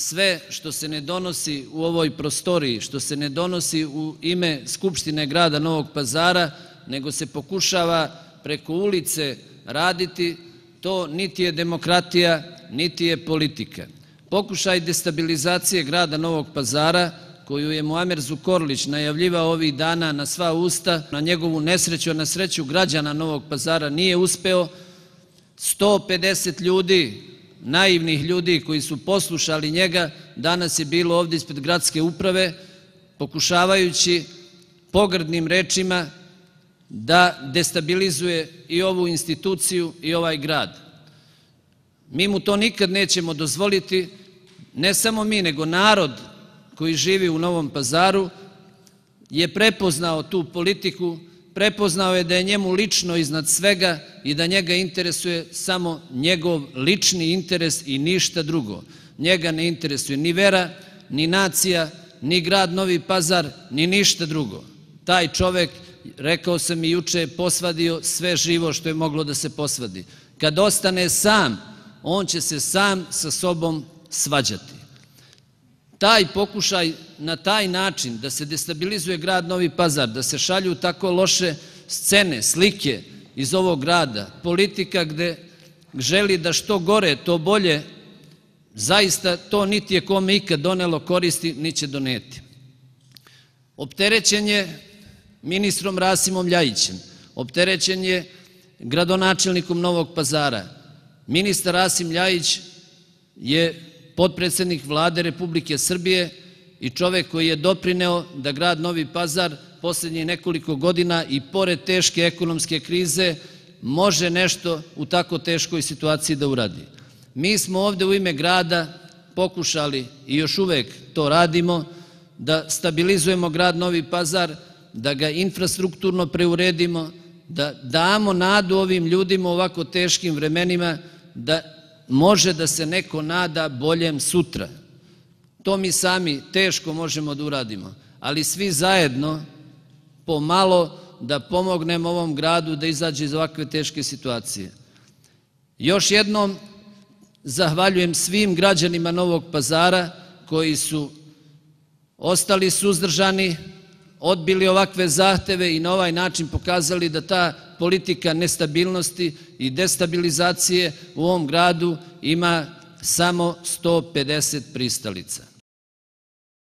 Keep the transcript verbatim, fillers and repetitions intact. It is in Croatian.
sve što se ne donosi u ovoj prostoriji, što se ne donosi u ime Skupštine grada Novog Pazara, nego se pokušava preko ulice raditi, to niti je demokratija, niti je politika. Pokušaj destabilizacije grada Novog Pazara, koju je Muamer Zukorlić najavljivao ovih dana na sva usta, na njegovu nesreću, na sreću građana Novog Pazara nije uspeo. sto pedeset ljudi, naivnih ljudi koji su poslušali njega, danas je bilo ovdje ispred gradske uprave, pokušavajući pogrdnim rečima da destabilizuje i ovu instituciju i ovaj grad. Mi mu to nikad nećemo dozvoliti, ne samo mi, nego narod koji živi u Novom Pazaru je prepoznao tu politiku, prepoznao je da je njemu lično iznad svega i da njega interesuje samo njegov lični interes i ništa drugo. Njega ne interesuje ni vera, ni nacija, ni grad Novi Pazar, ni ništa drugo. Taj čovek, rekao sam i juče, je posvadio sve živo što je moglo da se posvadi. Kad ostane sam, on će se sam sa sobom svađati. Taj pokušaj na taj način da se destabilizuje grad Novi Pazar, da se šalju tako loše scene, slike iz ovog grada, politika gde želi da što gore, to bolje, zaista to niti je kome ikad donelo koristi, ni će doneti. Opterećen je ministrom Rasimom Ljajićem, opterećen je gradonačelnikom Novog Pazara. Ministar Rasim Ljajić je potpredsednik Vlade Republike Srbije i čovek koji je doprineo da grad Novi Pazar poslednjih nekoliko godina i pored teške ekonomske krize može nešto u tako teškoj situaciji da uradi. Mi smo ovde u ime grada pokušali i još uvek to radimo, da stabilizujemo grad Novi Pazar, da ga infrastrukturno preuredimo, da damo nadu ovim ljudima u ovako teškim vremenima, da može da se neko nada boljem sutra. To mi sami teško možemo da uradimo, ali svi zajedno pomalo da pomognemo ovom gradu da izađe iz ovakve teške situacije. Još jednom zahvaljujem svim građanima Novog Pazara koji su ostali suzdržani, odbili ovakve zahteve i na ovaj način pokazali da ta politika nestabilnosti i destabilizacije u ovom gradu ima samo sto pedeset pristalica.